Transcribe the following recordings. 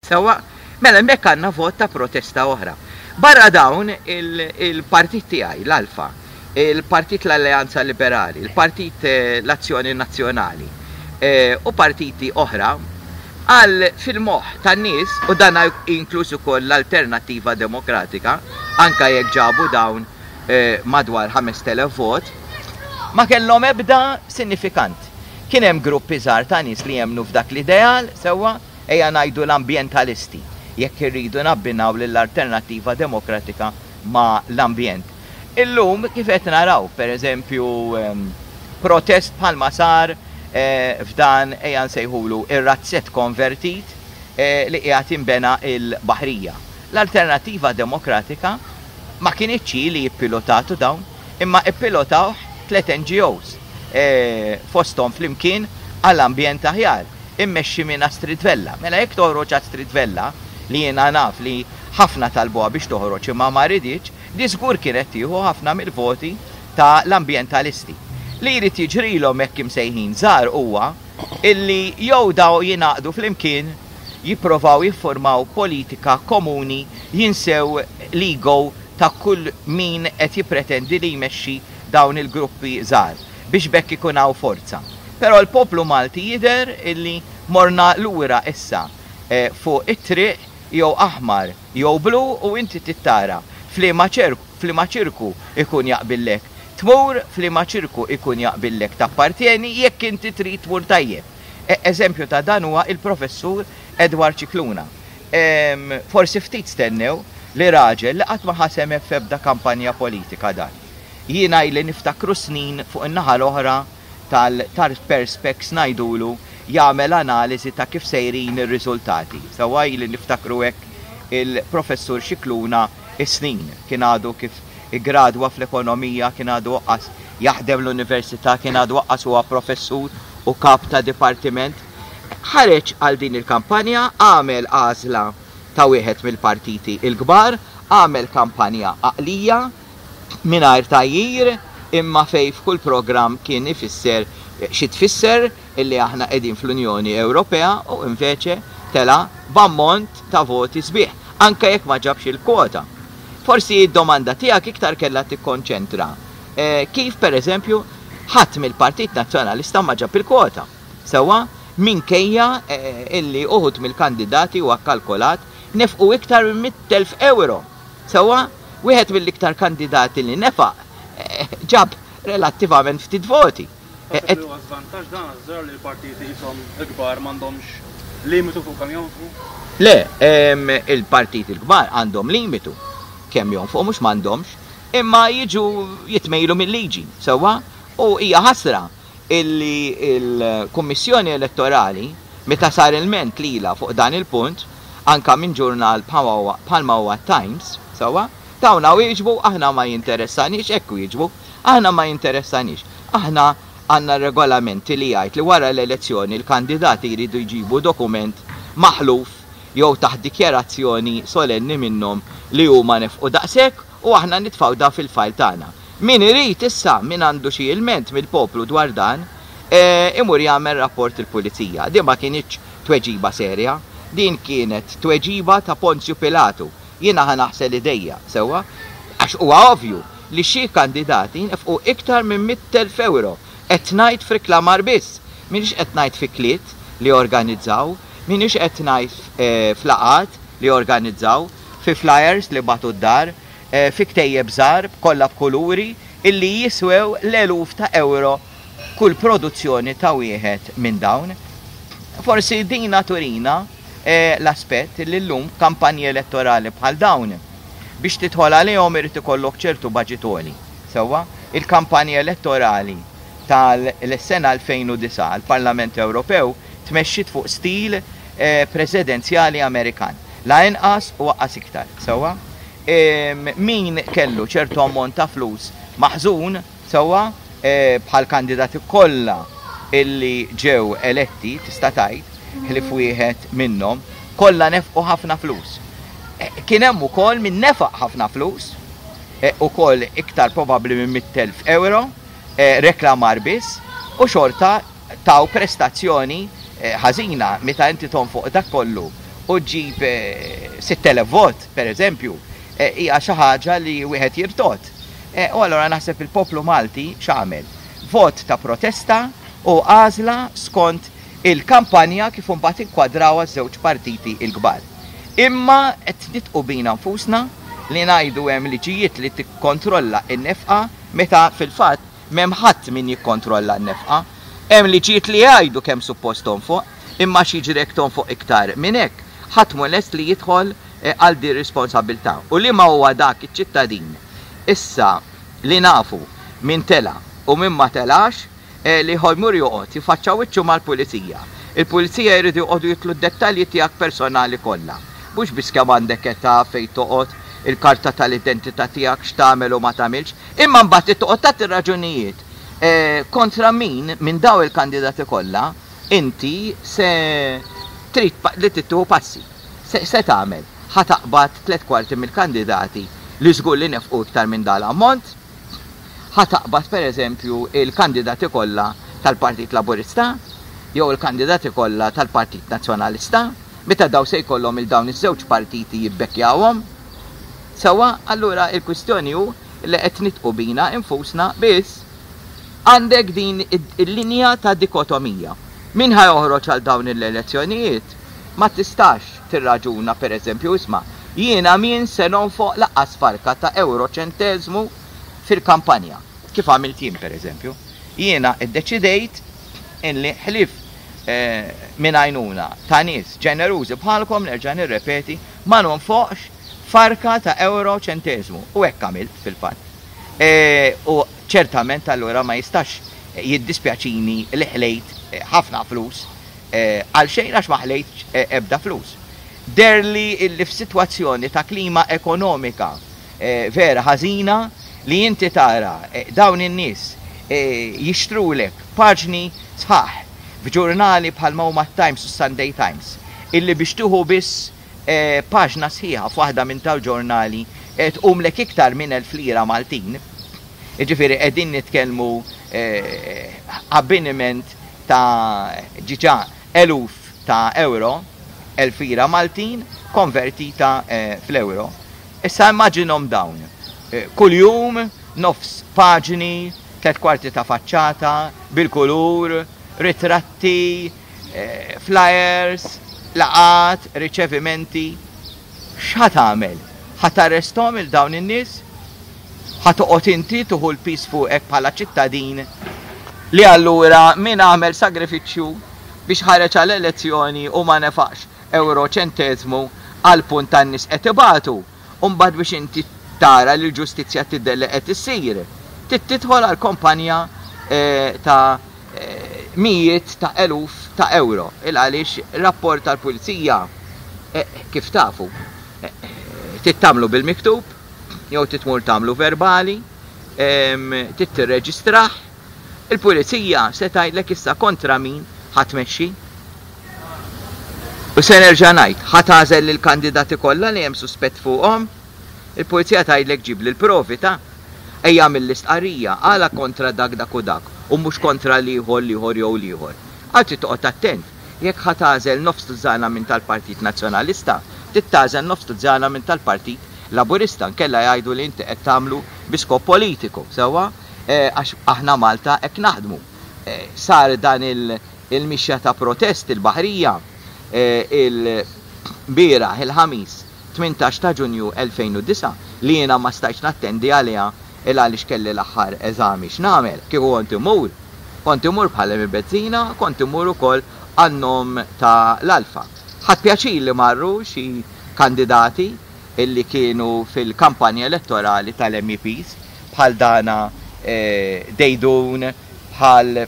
Sewwa? Mela hemmhekk għandna vot ta' protesta oħra. Barra dawn il-partit tiegħi, l-Alfa, il-Partit l-Alleanza Liberali, il-Partit l-Azzjoni Nazzjonali u partiti oħra, għal fil-moħħ tan-nies, u dan inkluż ukoll l-Alternattiva Demokratika, anke jekk ġabu dawn madwar 5,000 vot, ma kellhom ebda sinifikant. Kien hemm gruppi żgħar ta' nies li jemmnu f'dak l-ideal, sewwa, ejja ngħidu l-ambjentalisti, jekk irridu nabbinaw lill-Alternattiva Demokratika ma' l-ambjent. Illum kif qed naraw, per eżempju, protest bħalma sar f'dan ejja nsejħulu ir-razzett konvertit li qiegħed jinbena l-Baħrija. L-Alternattiva Demokratika ma kinitx hi li ppilotatu dawn, imma ppilotawh tlett NGOs, fosthom Flimkien għal Ambjent Aħjar, immexxi minn Astrid Vella. Mela jekk toħroġ Astrid Vella, li jiena naf li ħafna talbuha biex toħroġ imma ma riditx, di żgur kienet tieħu ħafna mill-voti ta' l-ambjentalisti. Li jrid jiġrilhom hekk imsejħin żgħar huwa illi jew daw jingħaqdu flimkien, jipprovaw jiffurmaw politika komuni, jinsew l-ego ta' kull min qed jippretendi li jmexxi dawn il-gruppi żgħar, biex b'hekk ikun hawn forza. Però l-poplu Malti jidher illi morna lura issa fuq it-triq jew aħmar jew blu u inti trid tara f'liema f'liema ċirku jkun jaqbillek tmur, f'liema ċirku jkun jaqbillek tappartjeni jekk inti trid tmur tajjeb. Eżempju ta' dan huwa il-Professur Edward Scicluna. Forsi ftit stennew li raġel li qatt ma ħa sehem f'ebda kampanja politika dan. Jiena ili niftakru snin fuq in-naħa l-oħra tal-perspex ngħidulu jagħmel analiżi ta' kif sejrin ir-riżultati. Sewwa ili niftakru hekk il-Professur Scicluna is-snin. Kien għadu kif iggradwa fl-ekonomija, kien għadu aqqas jaħdem l-università, kien għadu aqqas huwa professur u kap ta' dipartiment. Ħareġ għal din il-kampanja, għamel għażla ta' wieħed mill-partiti l-kbar, għamel kampanja għaqlija, mingħajr tgħajjir, imma fejn f'kull programm kien ifisser xi tfisser illi aħna qegħdin fl-Unjoni Ewropea u invece tela' b'ammont ta' voti sbieħ, anke jekk ma ġabx il-kwota. Forsi d-domanda tiegħek iktar kellha tikkonċentra kif pereżempju ħadd mill-Partit Nazzjonalista ma ġab il-kwota. Sewwa, minkejja illi uħud mill-kandidati huwa kkalkolat nefqu iktar minn 100,000 ewro. Sewwa, wieħed mill-iktar kandidati li nefaq ġab relattivament ftit voti. Taħseb li huwa żvantaġġ dan għaż-żgħar li l-partiti qishom il-kbar m'għandhomx limitu fuq kemm jonfqu? Le, il-partiti l-kbar għandhom limitu kemm jonfqu mhux m'għandhomx, imma jiġu jitmejlu mil-liġi, sewwa? U hija ħasra illi l-Kummissjoni Elettorali, meta sar ilment lilha fuq dan il-punt, anke minn ġurnal bħalma huwa t-Times, sewwa, tawna wieġbu aħna ma jinteressaniex, hekk wieġbu, aħna ma jinteressaniex. Aħna għandna regolamenti li jgħid li wara l-elezzjoni l-kandidati jridu jġibu dokument maħluf jew taħt dikjarazzjoni solenni minnhom li huma nefqu daqshekk u aħna nitfgħu dan fil-file tagħna. Min irid issa, min għandu xi ilment mill-poplu dwar dan, imur jagħmel rapport il-pulizija. Din ma kinitx tweġiba serja. Din kienet tweġiba ta' Ponzju Pilatu. Jiena ħa naħsel idejja, sewwa? Għax huwa ovvju li xi kandidati nefqu iktar minn 100,000 ewro. Qed ngħid f'riklamar biss. M'iniex qed ngħid f'ikliet li organizzaw, m'iniex qed ngħid f'laqgħat li organizzaw, fi flyers li bagħtu d-dar, fi ktejjeb żgħar kollha b'kuluri illi jiswew l-eluf ta' ewro kull produzzjoni ta' wieħed minn dawn. Forsi dina turina l-aspett li llum kampanji elettorali bħal dawn biex tidħol għalihom irid ikollok ċertu baġit għoli. Sewwa, il-kampanji elettorali tal-sena 2009 għall-Parlament Ewropew tmexxiet fuq stil presidenzjali Amerikan. La inqas u aqqas iktar. Sewwa? Min kellu ċertu ammont ta' flus maħżun, sewwa, bħal kandidati kollha illi ġew eletti, tista' tgħid, ħlief wieħed minnhom, kollha nefqu ħafna flus. Kien hemm ukoll min nefaq ħafna flus, ukoll iktar probabbli minn 100,000 ewro, reklamar biss, u xorta taw prestazzjoni ħażina meta inti tonfoq dak kollu u ġġib 6,000 vot, per eżempju, hija xi ħaġa li wieħed jirtogħod. U allura naħseb il-poplu Malti x'għamel? Vot ta' protesta u għażla skont il-kampanja kif imbagħad inkwadrawha ż-żewġ partiti l-kbar. Imma qed nidqu bina nfusna li ngħidu hemm liġijiet li tikkontrolla n-nefqa meta fil-fatt m'hemm ħadd min jikkontrolla n-nefqa. Hemm liġijiet li jgħidu kemm suppost tonfoq, imma x'jiġri jekk tonfoq iktar minn hekk? Ħadd mhu lest li jidħol għal din responsabbiltà. U liema huwa dak iċ-ċittadin issa li nafu min tela' u min ma telax li jmur joqgħod jifaċċa wiċċu mal-pulizija. Il-pulizija jridu joqogħdu jitlu d-dettalji tiegħek personali kollha. Mhux biss kemm għandek età, fejn toqgħod, il-karta tal-identità tiegħek, x'tagħmel u ma tagħmilx, imma mbagħad trid toqgħod tagħti raġunijiet kontra min minn dawn il-kandidati kollha inti se trid li tieħu passi. Se tagħmel? Ħa taqbad 3/4 mill-kandidati li żgur li nefqu iktar minn dan l-ammont? Ħa taqbad pereżempju l-kandidati kollha tal-Partit Laburista jew il-kandidati kollha tal-Partit Nazzjonalista meta dawn se jkollhom 'il dawn iż-żewġ partiti jibbekkjawhom? Sewwa, allura l-kwistjoni hu li qed nidqu bina infusna biss għandek din il-linja ta' dikotomija. Min ħa joħroġ għal dawn l-elezzjonijiet ma tistax tirraġuna pereżempju isma' jiena min se nonfoq lanqas farka ta' ewro ċenteżmu fil-kampanja, kif għamilt jien pereżempju. Jiena ddeċidejt illi ħlief minn għajnuna ta' nies ġenerużi bħalkom, nerġa' nirrepeti, ma nonfoqx farka ta' ewro ċenteżmu. U hekk għamilt fil-fatt. U ċertament allura ma jistax jiddispjaċini li ħlejt ħafna flus għal xejn għax ma ħlejtx ebda flus. Deherli illi f'sitwazzjoni ta' klima ekonomika vera ħażina li inti tara dawn in-nies jixtrulek paġni sħaħ f'ġurnali bħalma huma t-Times u s-Sunday Times illi biex tieħu biss paġna sħiħa f'waħda minn tal-ġurnali tqumlek iktar minn 1000 lira Maltin. Jiġifieri qegħdin nitkellmu abbiniment ta' ġiġa eluf ta' euro, 1000 lira Maltin konvertita fl-euro. Issa immaġinhom dawn. Kuljum nofs paġni, 3/4 ta' faċċata, bil-kulur, ritratti, flyers, laqgħat, riċevimenti. X'ħa tagħmel? Ħa tarresthom 'il dawn in-nies? Ħa toqgħod inti tieħu l-piż fuqek bħala ċittadin li allura min għamel sagrifiċċju biex ħareġ għal elezzjoni u ma nefaqx ewro ċenteżmu għall-punt tan-nies qed ibatu u mbagħad biex inti tara li l-ġustizzja tidher li qed issir trid tidħol għal kampanja ta' mijiet ta' eluf ta' ewro il għaliex rapport tal-pulizija kif tafu trid tagħmlu bil-miktub jew trid tmur tagħmlu verbali, trid tirreġistrah. Il-pulizija se tgħidlek issa kontra min ħa tmexxi. U se nerġa' ngħid, ħa tagħżel lill-kandidati kollha li hemm suspett fuqhom? Il-pulizija tgħidlek ġibli l-provi ta'. Ejja agħmel l-istqarrija għala kontra dak dak u dak u mhux kontra l-ieħor l-ieħor jew l-ieħor. Għal trid toqgħod attent. Jekk ħa tagħżel nofs tużżana minn tal-Partit Nazzjonalista, trid tagħżel nofs tużżana minn tal-Partit Laburista, nkella jgħidu li inti qed tagħmlu bi skop politiku, sewwa? Għax aħna Malta hekk naħdmu. Sar dan il-mixja ta' protest il-Baħrija il-bieraħ il-Ħamis 18 ta' Ġunju 2009 li jiena ma stajtx nattendi għaliha il għaliex kelli l-aħħar eżami x'nagħmel. Kieku kont immur, kont immur bħal Emi Bezzina, kont immur ukoll għan-nom ta' l-Alfa. Ħadt pjaċir li marru xi kandidati illi kienu fil-kampanja elettorali tal-MEPs bħal Dana Deidun, bħal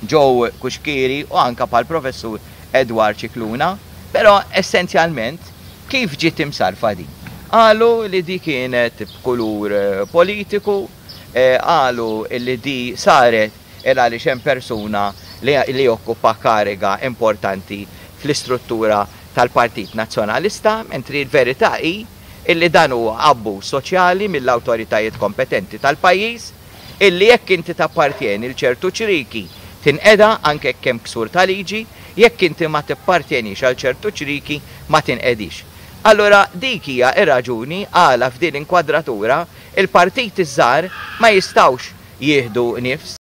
Joe Cuschieri u anke bħal Professur Edward Scicluna. Però essenzjalment kif ġiet imsarrfa din? Qalu li di kienet b'kulur politiku, qalu li di saret il għaliex hemm persuna li jokkupa kariga importanti fl-istruttura tal-Partit Nazzjonalista, mentri l-verità hi illi dan huwa abbuż soċjali mill-awtoritajiet kompetenti tal-pajjiż, illi jekk inti tappartjeni 'l ċertu ċrieki tinqeda anke jekk hemm ksur ta' liġi, Jekk inti ma tippartjenix għal ċertu ċriki ma tinqedix. Allura dik hija r-raġuni għala f'din l-inkwadratura il-partiti ż-żgħar ma jistgħux jieħdu nifs.